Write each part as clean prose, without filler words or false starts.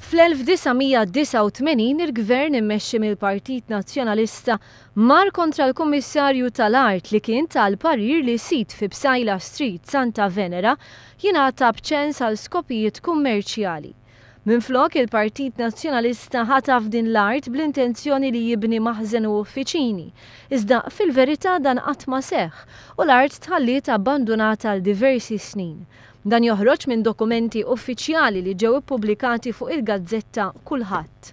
Fl-1989 il-Gvern immexxi mill-Partit Nazzjonalista mar kontra l-Kummissarju tal-Art li kien ta l-parir li sit fi Psaila Street, Santa Venera, jingħata b'ċens għal skopijiet kummerċjali. Minflok, il-Partit Nazzjonalista ħataf din l-art bl-intenzjoni li jibni maħżen u uffiċini. Iżda fil-verità dan qatt ma seħħ u l-art tħalliet abbandunata għal diversi snin. Dan joħroġ minn dokumenti uffiċjali li ġew ippubblikati fuq il-gazzetta Kullħadd.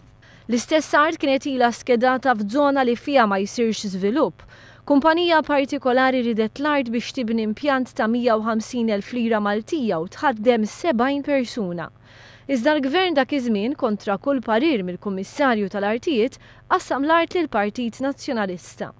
L-istess art kienet ilha skedata f'zona li fiha ma jsirx żvilupp. Kumpanija partikolari ridet l-art biex tibni impjant ta' 150,000 lira Maltija u tħaddem 70 persuna. Iżda l-Gvern dak iż-żmien, kontra kull parir mill-Kummissarju tal-Artijiet, qassam l-art lill-Partit Nazzjonalista.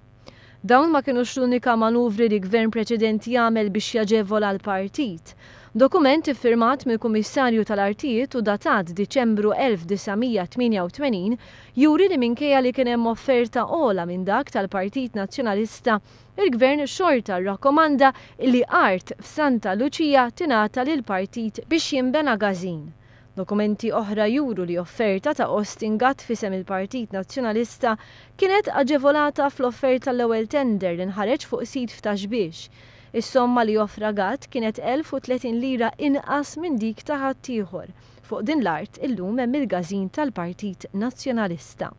Dawn ma kinux l-unika manuvri li gvern preċedenti għamel biex jaġevola l-partit. Dokument iffirmat mill-Kummissarju tal-Artijiet u datat Diċembru 1988 juri li minkejja li kien hemm offerta ogħla minn dak tal-Partit Nazzjonalista, il-Gvern xorta rrakkomanda li art f'Santa Luċija tingħata lill-partit biex jinbena każin. Dokumenti oħra juru li offerta ta' Austin Gatt f'isem il-Partit Nazzjonalista kienet aġevolata fl-offerta l-ewwel tender li nħareġ fuq sit f'Ta' Xbiex. Is-somma li offra Gatt kienet 1,030 lira inqas minn dik ta' ħaddieħor. Fuq din l-art illum hemm il-każin tal-Partit Nazzjonalista.